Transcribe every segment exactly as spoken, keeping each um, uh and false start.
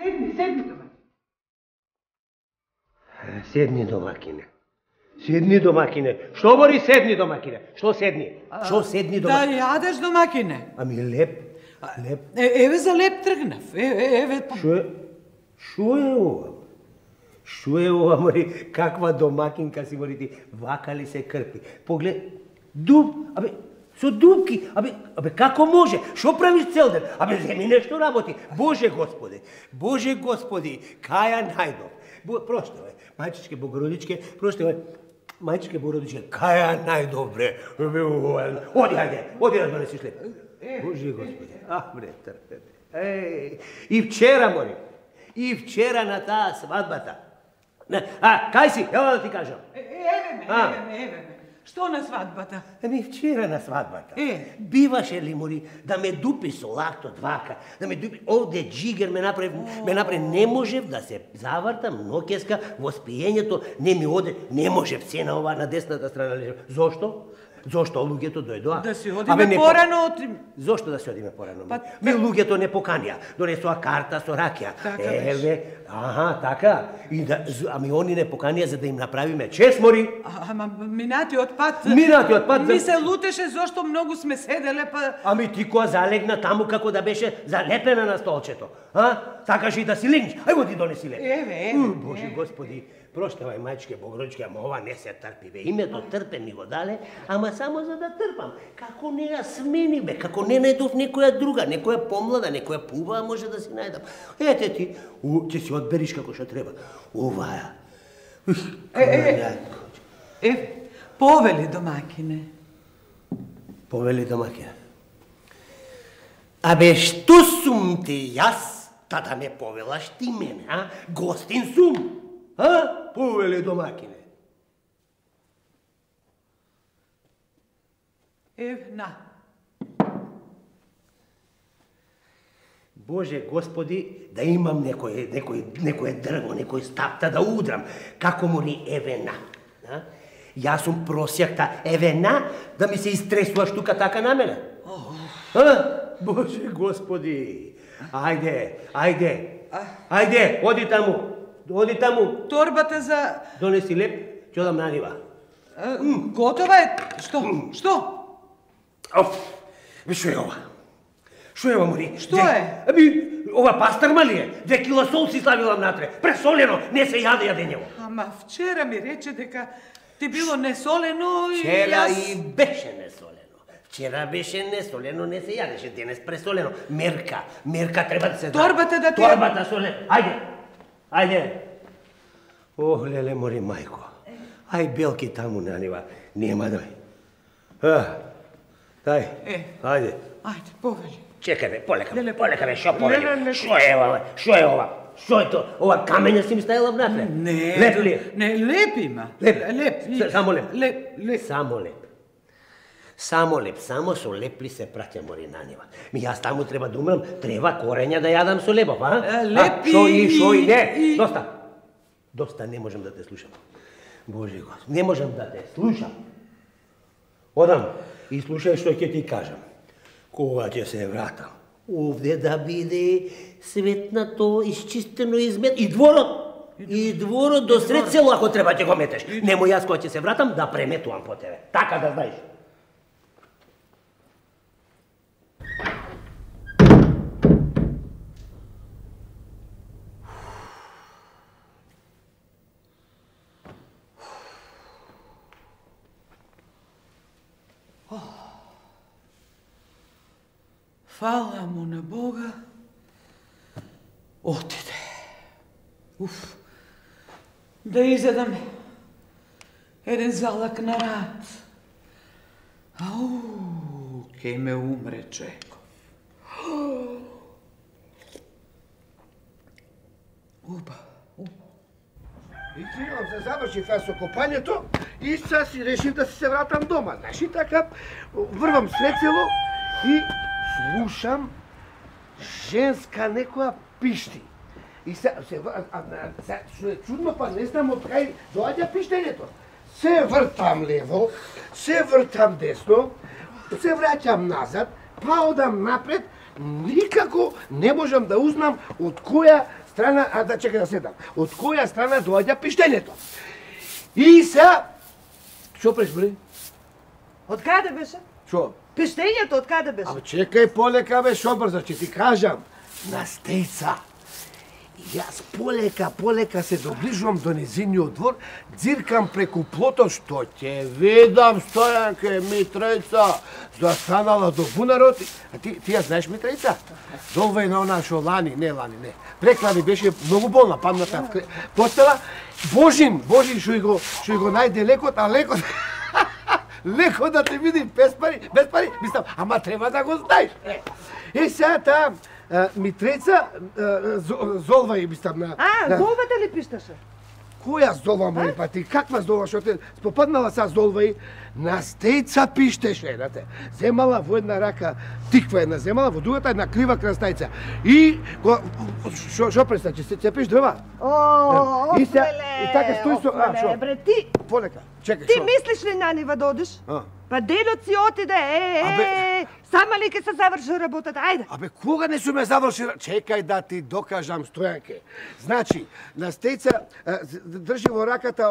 Седни, седни домакине. Седни домакине. Седни домакине. Што бори седни домакине? Што седни? Што седни домакине? Да јадеш домакине. Ами леп, леп. Еве за леп тргнав. Еве. Што е? Што е ова? Што е ова, мори? Каква домакинка си, мори ти? Вака ли се крпи? Поглед, дуб, абе, со дубки, абе, абе, како може? Што правиш цел ден? Абе, земи нешто работи. Боже Господи, Боже Господи, каја најдов. Проштавај, мајчичке Богородичке, проштавај, мајчичке Богородичке, каја најдобре. Оди, ајде, оди да донесиш леп. Боже Господи, а, бре, трпе. Еј, и вчера, мори, и вчера на таа свадбата. А, кај си? Ево да ти кажам. Еве ме, еве ме, еве ме. Што на свадбата? Еми вчера на свадбата. Е. Биваше ли, мори, да ме дупи со лакто двака, да ме дупи, овде джигер ме направи, ме направи, не можев да се завртам ноќеска во спиењето, не ми оде, не можев се на ова на десната страна лежав. Зошто? Зошто луѓето дојдоа? Да си одиме порано од... Зошто да си одиме порано? Ми луѓето не поканија, донесоа карта со ракија. Еве, аха, така. И да, ами они не поканија за да им направиме чест, мори. Ама минатиот пат... Минатиот пат... Ми се лутеше зошто многу сме седеле, па... Ами ти која залегна таму како да беше залепена на столчето. А? Сакаш и да си легнеш? Ајмо ти донеси леп. Еве, еве. Боже Господи, проштавај мајчке Богородичке, ама ова не се трпи, бе. Името трпе ми го дале, ама само за да трпам. Како не ја смени, бе, како не најдов некоја друга, некоја помлада, некоја пубава може да си најдам. Ете ти, ќе си одбериш како што треба. Оваа. Е, е, е, повели домакине. Повели домакине. Абе, што сум ти јас, та да ме повелаш ти мене, а? Гостин сум. А? Повели домакине. Ев, на. Боже Господи, да имам некој, некој, некој дрво, некој стапта да удрам, како му ни еве на. А? Јас сум просјакта, еве на, да ми се истресуваш тука така на мене. А? Боже Господи, ајде, ајде, ајде, оди таму, оди таму. Торбата за... Донеси леп, ќе одам на нива. Готова е? Што? Што? Оф, што е ова? Што е ова, мори? Што е? Аби, ова пастарма ли е? Две кила сол си славила внатре. Пресолено, не се јаде јадењево. Ама вчера ми рече дека ти било несолено и Вчера јас... и беше несолено. Вчера беше несолено, не се јадеше, денес пресолено. Мерка, мерка треба да се даде. Торбата да ти... Торбата солено. Ајде, ајде. Ох, леле, мори мајко. Ај, белки таму на нива. Нема дој. А, дај, ајде. Ајде, повели. Чекај бе, полека, полека бе, шо повели? Шо е ова, шо е ова? Шо е то? Ова камења си ми ставила внатре? Не, леп ли? Не, леп има. Леп, леп. Само леп. Леп, леп. Само леп. Само леп, само со лепли се праќа, мори на нива. Ми јас таму треба да умрам, треба корења да јадам со лебов, а? Леп и... Шо и, шо и, не, доста. Доста, не можам да те слушам. Боже Господи, не можам да те слушам. Одам и слушај што ќе ти кажам. Кога ќе се вратам, овде да биде светнато, исчистено, измет... И дворот! И дворот до сред село, ако треба ќе го метеш. Немо јас кога ќе се вратам да преметувам по тебе. Така да знаеш. Фала му на Бога, отиде. Уф, да изедам еден залак на рад. Ау, ке ме умре Чеков. Уба, уба. И требам се заврши фас со копањето и сега си решив да се вратам дома. Знаеш и така, врвам сред село и слушам женска некоја пишти. И се, се, а, се, што е чудно, па не знам од кај доаѓа пиштењето. Се вртам лево, се вртам десно, се враќам назад, па одам напред, никако не можам да узнам од која страна, а да чекай да седам. Од која страна доаѓа пиштењето? И се што прешбри? Од каде беше? Што? Пиштењето од каде беше? Абе чекај полека бе, шо брзо ќе ти кажам. На стејца. Јас полека, полека се доближувам до незиниот двор, дзиркам преку плото, што ќе видам, Стојанке, Митрејца, застанала до бунарот. А ти, ти ја знаеш Митрејца? Долва е на она шо лани, не лани, не. Преклани беше многу болна, падната в постела. Божин, Божин шо и го, шо и го најде лекот, а лекот... лекот да те види без пари, без пари, мислам, ама треба да го знаеш. Е, сега таа Митрејца золва и мислам на... А, золвата ли пишташе? Која золва, мој па ти? Каква золва, што те спопаднала са золва и на стејца пиштеше, знате. Земала во една рака тиква една земала, во другата една крива крастајца. И што што представи, се цепиш дрва? О, и се и така стои со, а што? Бре, ти Полека, чекај, ти што? мислиш ли на нива да одиш? А. Па делот си отиде, е, е, сама ли ке се заврши работата, ајде. Абе, кога не сум ја завршил? Чекај да ти докажам, Стојанке. Значи, на стејца држи во раката,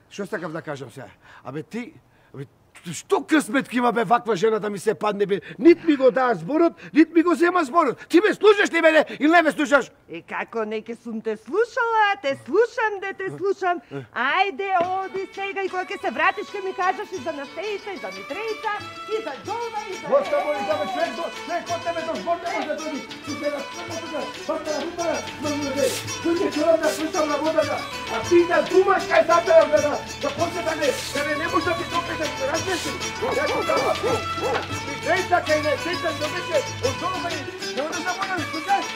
што сакав да кажам сега? Абе, ти, абе, што късмет ки има бе ваква жена да ми се падне бе? Нит ми го даа зборот, нит ми го зема зборот. Ти ме слушаш ли мене или не ме слушаш? И како не ке сум те слушала, те слушам, де те слушам. Ајде, оди сега и кога ќе се вратиш ке ми кажеш и за Настејца, и за Митрејца, и за Долва, и за... Коста моли да ме човек, човек од тебе до збор не може да доди. Ти се разпрема тука, баста на рупара, на муде. Тук е човек да слушам на водата, а ти да думаш кај затарам да да после да не, да не не може да ти допиташ, разбираш? Митрејца кај Настејца добеше од Долва и не може да можеш, слушаш?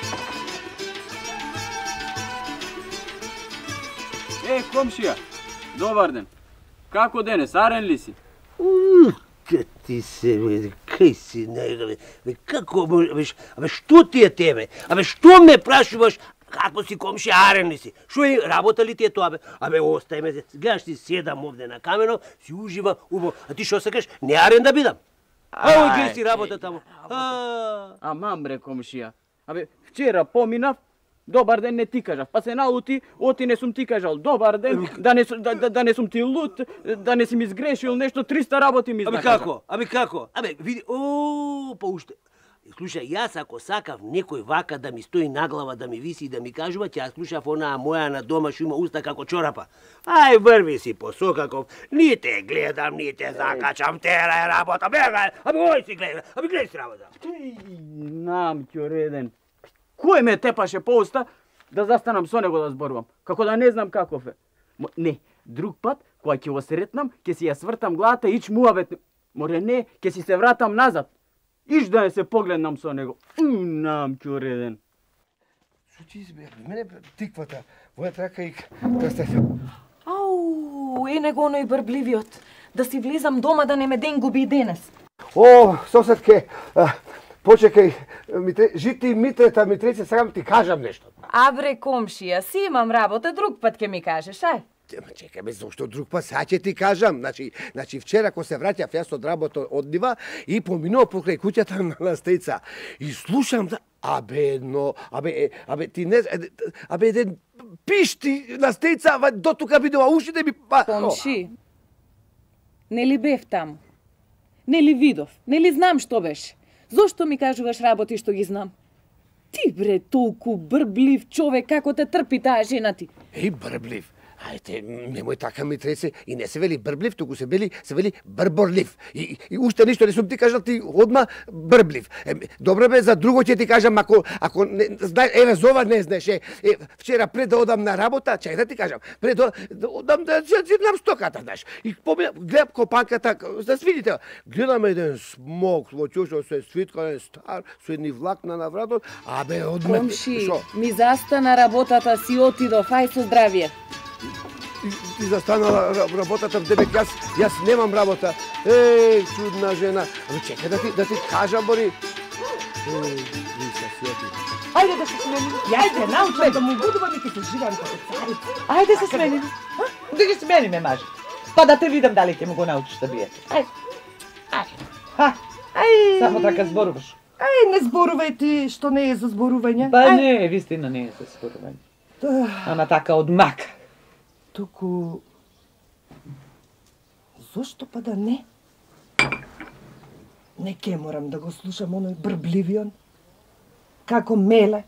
Е, комшија, добар ден. Како денес, арен ли си? Ка ти се, бе, кај си, не, бе, како, бе, абе, што ти е тебе? Абе, што ме прашуваш? Како си комшија, арен ли си? Шо е, работа ли ти е тоа, бе? Абе, остај ме, гледаш ти седам овде на камено, си ужива, убаво. А ти што сакаш? Не арен да бидам? А, гледай си работа таму. Амам бре, комшија. Абе, вчера поминав, добар ден не ти кажав, па се наути, оти не сум ти кажал, добар ден, да не, да, да, да не сум ти лут, да не си ми сгрешил нешто, триста работи ми Абе знакажа. како? Абе како? Абе, види, о, па уште. Слушај, јас ако сакав некој вака да ми стои на глава, да ми виси и да ми кажува, ќе ја слушав онаа моја на дома што има уста како чорапа. Ај, врви си по Сокаков, ни те гледам, ни те закачам, тера е работа, бегај, абе, ој си гледа, абе, гледай си работа. Нам реден. Кој ме тепаше по уста да застанам со него да зборувам, како да не знам каков е. Мо, не, друг пат, кога ќе го сретнам, ќе си ја свртам главата и ич муавет. Море не, ќе си се вратам назад. Иш да не се погледнам со него. Нам реден. Што ти избе? Мене тиквата, моја трака и крастајца. Ау, е него оној брбливиот. Да си влезам дома да не ме ден губи и денес. О, соседке, почекај, Митре, жити Митрета, Митрејца, сакам ти кажам нешто. А бре, комшија, си имам работа, друг пат ќе ми кажеш, ај. Чекај ме, зашто друг пат, сега ќе ти кажам. Значи, значи вчера кога се враќав јас од работа од нива и поминував покрај куќата на Настејца. И слушам да абе но, абе абе ти не абе еден пишти Настејца до тука бидува ушите ми па. Комши. Нели бев таму? Нели видов? Нели знам што беше? Зошто ми кажуваш работи што ги знам? Ти бре толку брблив човек, како те трпи таа жена ти? Еј, брблив. Ајте, немој така ми тресе, и не се вели брблив, туку се вели, се вели брборлив. И, и уште ништо не сум ти кажал, ти одма брблив. Е, добро бе, за друго ќе ти кажам, ако, ако не, знај, еве, зова не знаеш, е, е, вчера пред да одам на работа, чај да ти кажам, пред да, да одам да зирнам стоката, знаеш. И помина, гледам копанката, да свидите, гледам еден смок, во чушо се свиткален стар, со едни влакна на вратот, абе, одме... Комши, ми застана работата, си отидов, ај со здравје. Ти, ти застанала работата, дебек, јас, јас немам работа. Еј, чудна жена. Ама чекај да ти, да ти кажам, Бори. Еј, Лиса, си оти. Ајде да се сменим. Јас те научам да му будувам и ќе се живам како царица. Ајде се сменим. Да ги смениме, маже. Па да те видам дали ќе му го научиш да биете. Ајде. Ајде. Ха. Ај. Само така зборуваш. Ај, не зборувај ти што не е за зборување. Па Ај. не, вистина не е за зборување. Да. Ама така од мак. Туку... Зошто па да не? Не ке морам да го слушам оној брбливион. Како меле.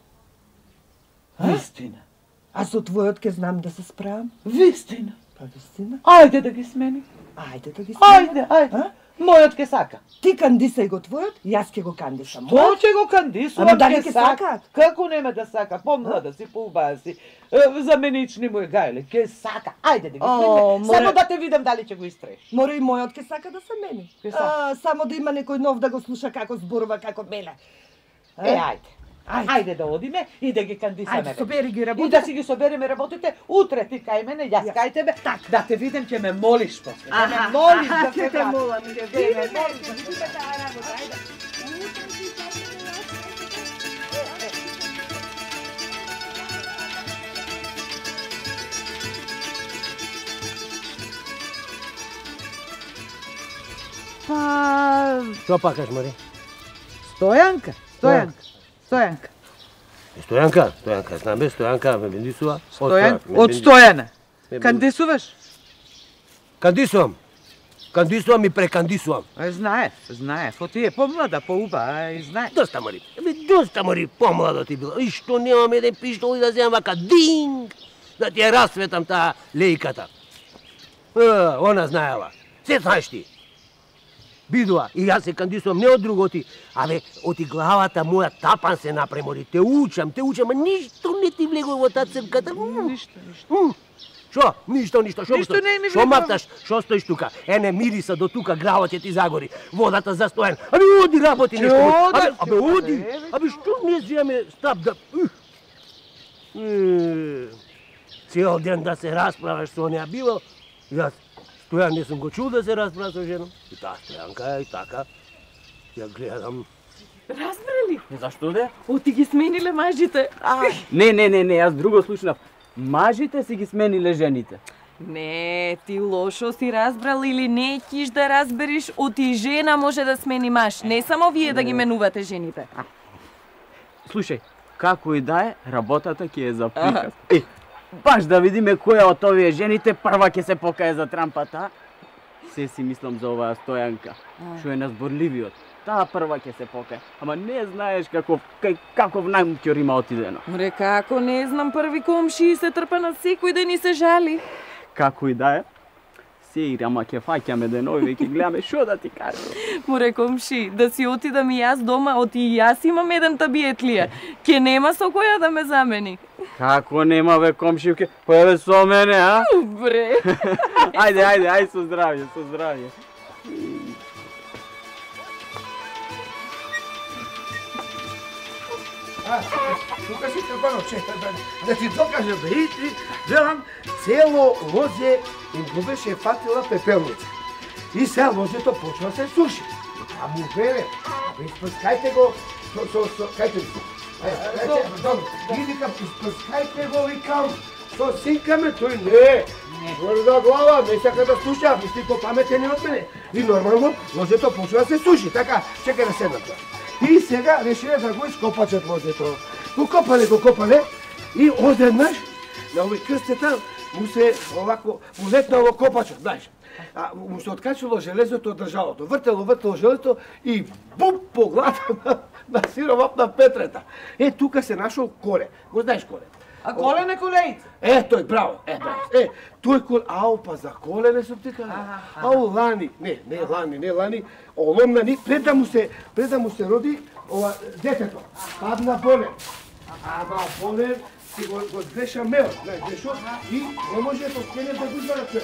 Вистина. А со твојот ке знам да се справам. Вистина. Па вистина. Ајде да ги смени. Ајде да ги сменам. Ајде, ајде. А? Мојот ке сака. Ти кандисај го твојот, јас ке го кандисам. Тоа ќе го кандисувам. Ама дали ќе ќе сака? сакаат? Како нема да сака? Помлада си, поубава си. Е, заменични му е гајле. Ке сака. Ајде да ги О, смени. море- Само да те видам дали ќе го истреш. Мора и мојот ке сака да се мени. Ке сака. А, само да има некој нов да го слуша како зборува, како меле. Е, ајде. Ајде. Ајде да одиме и да ги кандисаме. Ајде, собери ги И да работите. си ги собереме работите, утре ти кај мене, јас кај тебе, да те видим, ќе ме молиш после. Да ме молиш да ќе се те вратиш. молам, Ќе ќе ме видиме, молиш ќе да се видиме таа работа, ајде. Па... Што пакаш, Мари? Стојанка, Стојанка, Стојанка. Стојанка, Стојанка, знам бе, Стојанка ме бендисува. Стојан, од Стојана. Кандисуваш? Кандисувам. Кандисувам и прекандисувам. Е, знае, знае. Фо ти е помлада, поуба, и знае. Доста, Мари. Ебе, доста, Мари, помладо ти била. И што немам еден пиштол и да земам вака динг, да ти ја расветам таа лејката. Е, она знаела. Се знаеш ти. Бидува, и јас се кандисувам не од друготи, абе, оти главата моја тапан се напремори. Те учам, те учам, а ништо не ти влегува во таа црката. Ништо, ништо. М, Шо? Ништо, ништо. Шо Ништо го- не ми Шо влегува. мапташ? Шо стоиш тука? Ене мириса до тука, гравот ќе ти загори. Водата застоен. Абе, оди работи Ќе нешто. Абе, одам, абе, ќе оди. одам. Абе, што не земе стап да... Ух. Е, Цел ден да се расправаш со неа било. Јас, Стојан, не сум го чул да се расправа со женом. И таа Стојанка и така. Ја гледам. Разбрали? Зашто де? Оти ги смениле мажите. Не, не, не, не, јас друго слушнав. Мажите си ги смениле жените. Не, ти лошо си разбрал или не ќиш да разбериш, оти жена може да смени маж, не само вие да ги менувате жените. Слушај, како и да е, работата ќе е за приказ. Е, баш да видиме која од овие жените прва ќе се покае за трампата. Се си мислам за оваа Стојанка, што е назборливиот. Таа прва ќе се покае, ама не знаеш каков кај каков најмќор има отидено. Мре, како не знам, први комши се трпа на секој ден и се жали. Како и да е, се ири, ама ќе фаќаме денови и ќе гледаме што да ти кажам. Море комши, да си отидам и јас дома, оти и јас имам еден табиетлија. Ке нема со која да ме замени. Како нема бе комшивке, појаве со мене, а? Бре. Ајде, ајде, ајде со здравје, со здравје. А, тука си трпано, чекај да, да ти докажам, да и ти, гледам, цело лозе им го беше фатила пепелница. И сега лозето почва да се суши. А му веле, абе, испрскајте го, со, со, со, кајте го. Ајде, ајде, добро, и викам, испрскајте го, викам, со синкаме, тој не. Горда глава, не сака да слуша, мисли по-паметен од мене. И нормално, лозето почва да се суши, така, чекај да седнам тоа. И сега решиле да го ископачат лозето. Го копале, го копале и одеднаш на овој крстета му се овако му летнало копачот, знаеш. А му се откачало железото од држалото. Вртело, вртело железото и буп по главата на, на сировап на Петрета. Е, тука се нашол коле. Го знаеш коле? А колене колејца? Е, тој, браво, е, браво. Е, тој кол, ау, па за колене сум ти кажа. Ау, лани, не, не лани, не лани, оломнани, пред да му се, пред да му се роди ова детето. Падна болен. Ама болен си го, го греша мел, знаеш, грешо, и не може да скене да го извара тој.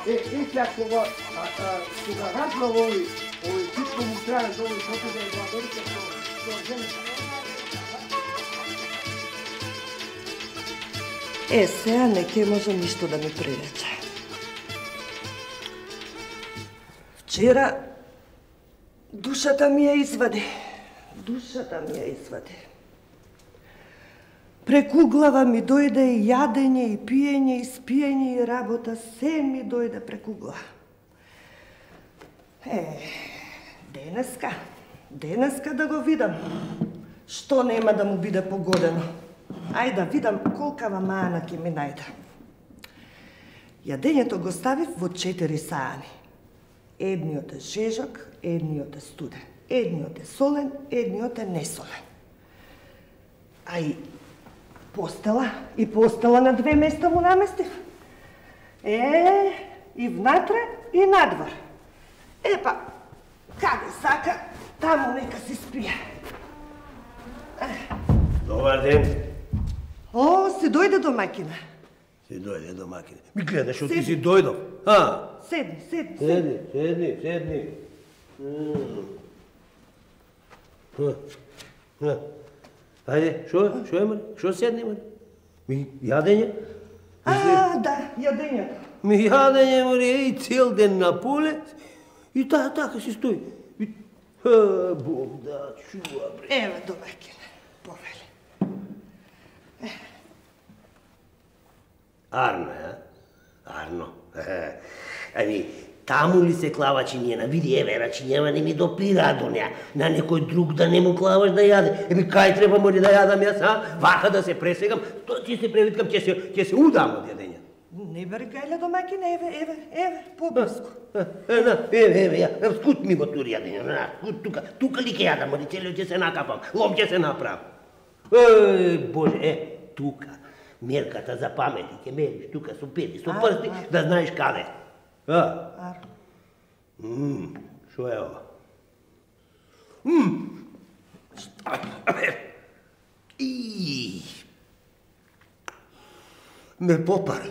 Е, и сега кога, а, а, кога разбрал овој, овој типко му траја, овој шото да е во Америка, со, со жената. Е, сега не ке може ништо да ми прирече. Вчера душата ми ја извади. Душата ми ја извади. Преку глава ми дојде и јадење, и пиење, и спиење, и работа. Се ми дојде преку глава. Е, денеска, денеска да го видам. Што нема да му биде погодено? Ајде да видам колкава мана ќе ми најде. Јадењето го ставив во четири саани. Едниот е жежок, едниот е студен. Едниот е солен, едниот е несолен. А и постела, и постела на две места му наместив. Е, и внатре, и надвор. Епа, каде сака, таму нека си спие. Добар ден. О, си дојде домакина. Си дојде домакина. Ми гледаш, што ти си дојдов. А? Седни, седни, Седни, седни, седни. Ајде, шо, шо е, Мари? Шо седни, Мари? Ми јадење? А, да, јадењето. Ми јадење, Мари, и цел ден на поле. И таа така си стои. И... А, Бог да чува, бре. Еве домакина, повели. Арно, а? Арно. Ами, таму ли се клава чинјена? Види, еве, рачињева не ми допира до неа. На некој друг да не му клаваш да јаде. Еми, кај треба мори да јадам јас, а? Вака да се пресегам, то ти се превиткам, ќе се, ќе се удам од јадење. Не бери гајле домакина, еве, еве, еве, поблиску. Еве, еве, ја, скут ми го тури јадење, на, скут тука, тука ли ќе јадам, мори, целиот ќе се накапам, лом ќе се направам. Еј, Боже, е, тука. Мерката за памети, ќе мериш тука со пети, со прсти, да знаеш каде. А? Арно. Мм, шо е ова? Мм. И. Ме попари.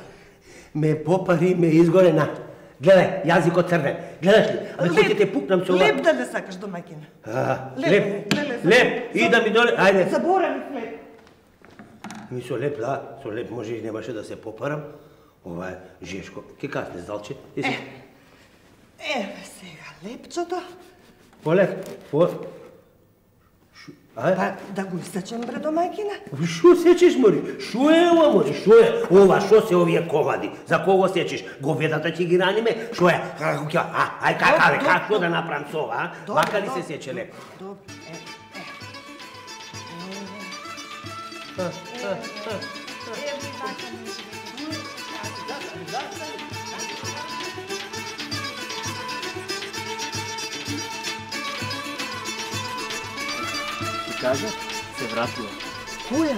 Ме попари и ме изгоре на. Гледај, јазикот црвен. Гледаш ли? Абе, кој ќе те пукнам со ова? Леп да не сакаш домакина. А, Леп, леп, леп, леп, и да ми доле, ајде. Заборави хлеб. Ми со леп, да, со леп може и немаше да се попарам. Ова е жешко. Ке касне, залче? Еси. Еве сега лепчото. Полек, по... Шу... А? Па да го исечем бре домакина. Шо сечеш, мори? Шо е ова, мори? Шо е? Ова, шо се овие комади? За кого сечеш? Говедата ќе ги раниме? Шо е? Како ќе? А, ај кака, бе, како да направам со ова, а? Добро, Вака ли се добро, сече леп? Добро, е, е. Еве вака Кажа, се вратила. Која?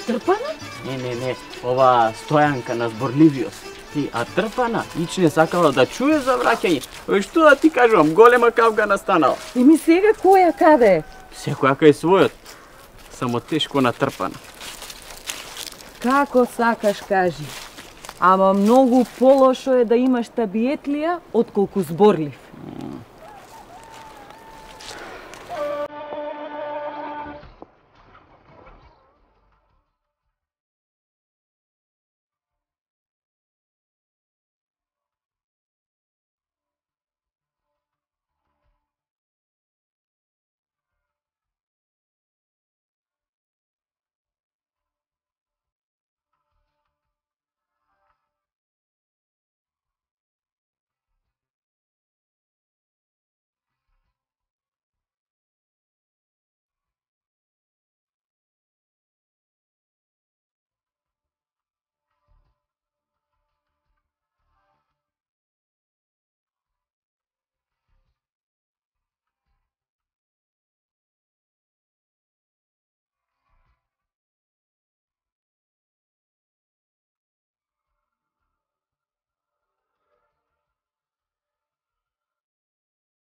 Трпана? Не, не, не, ова Стојанка на зборливиост. Ти, а Трпана, ич не сакала да чуе за враќање. Ой, што да ти кажувам, голема кавга настанала. Еми сега која каде? Секоја кај својот, само тешко натрпана. Како сакаш кажи. Ама многу полошо е да имаш табиетлија отколку зборлив.